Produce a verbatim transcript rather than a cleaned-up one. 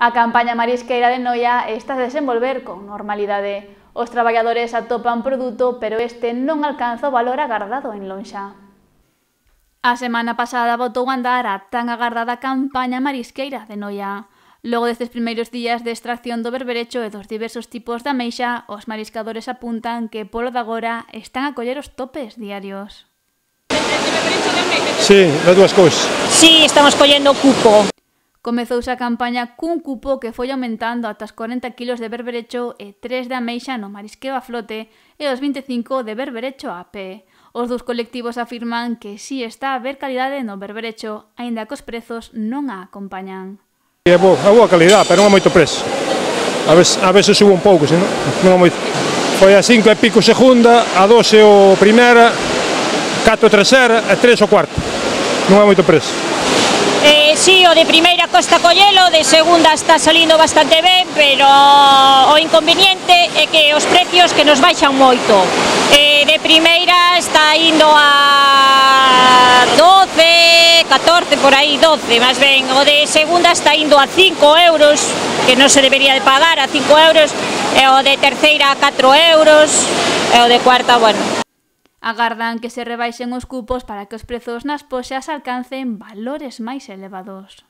A campaña marisqueira de Noia está a desenvolver con normalidade. Os traballadores atopan produto, pero este non alcanza o valor agardado en lonxa. A semana pasada botou a andar a tan agardada campaña marisqueira de Noia. Logo destes primeiros días de extracción do berberecho e dos diversos tipos de ameixa, os mariscadores apuntan que polo de agora están a coller os topes diarios. Sí, das dúas cousas. Sí, estamos collendo cupo. Comezouse a campaña cun cupo que foi aumentando ata os corenta kilos de berberecho e tres de ameixa no marisqueo a flote e os vinte e cinco de berberecho a pé. Os dous colectivos afirman que si está a haber calidade no berberecho, aínda que os prezos non a acompañan. É boa, é boa calidade, pero non é moito preço. A veces, a veces subo un pouco, senón non é moito. Foi a cinco e pico segunda, a doce o primeira, catro terceira e tres o cuarto. Non é moito preço. Eh, sí, o de primeira costa collelo, de segunda está salindo bastante ben, pero o inconveniente é que os precios que nos baixan moito. Eh, de primeira está indo a doce, catorce, por aí, doce, máis ben. O de segunda está indo a cinco euros, que non se debería de pagar, a cinco euros, e o de terceira a catro euros, e o de cuarta, bueno. Agardan que se rebaixen os cupos para que os prezos nas poxas alcancen valores máis elevados.